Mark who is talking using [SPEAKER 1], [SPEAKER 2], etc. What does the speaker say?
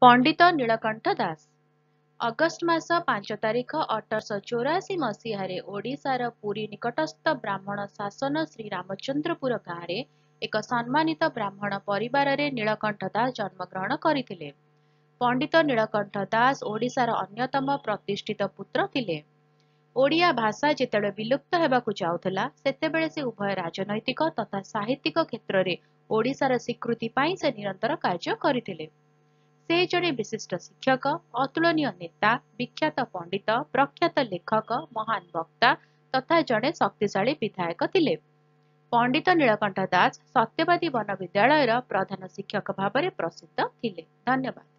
[SPEAKER 1] ପଣ୍ଡିତ Nilakantha Das. August ମାସ 5 ତାରିଖ 1884 ମସିହାରେ ଓଡ଼ିଶାର ପୁରୀ ନିକଟସ୍ଥ ବ୍ରାହ୍ମଣ ଶାସନ ଶ୍ରୀରାମଚନ୍ଦ୍ରପୁର ଗାଁରେ ଏକ ସମ୍ମାନିତ ବ୍ରାହ୍ମଣ ପରିବାରରେ ନୀଳକଣ୍ଠ ଦାସ ଜନ୍ମଗ୍ରହଣ କରିଥିଲେ। ପଣ୍ଡିତ ନୀଳକଣ୍ଠ ଦାସ ଓଡ଼ିଶାର ଅନ୍ୟତମ ପ୍ରତିଷ୍ଠିତ ପୁତ୍ର ଥିଲେ। ଓଡ଼ିଆ ଭାଷା ଯେତେବେଳେ ବିଲୁପ୍ତ ହେବାକୁ ଯାଉଥିଲା, ସେତେବେଳେ ସେ ଉଭୟ ରାଜନୈତିକ ତଥା ସାହିତ୍ୟିକ କ୍ଷେତ୍ରରେ ଓଡ଼ିଶାର ସ୍ୱୀକୃତି ପାଇଁ ସେ ନିରନ୍ତର କାର୍ଯ୍ୟ କରିଥିଲେ। ସେ ଜଣେ ବିଶିଷ୍ଟ ଶିକ୍ଷକ, ଅତୁଳନୀୟ ନେତା, ବିଖ୍ୟାତ ପଣ୍ଡିତ, ପ୍ରଖ୍ୟାତ ଲେଖକ, ମହାନ ବକ୍ତା ତଥା ଜଣେ ଶକ୍ତିଶାଳୀ ବିଧାୟକ ଥିଲେ। ପଣ୍ଡିତ ନୀଳକଣ୍ଠ ଦାସ ସତ୍ୟବାଦୀ ବନ ବିଦ୍ୟାଳୟର ପ୍ରଧାନ ଶିକ୍ଷକ ଭାବରେ ପ୍ରସିଦ୍ଧ ଥିଲେ। ଧନ୍ୟବାଦ।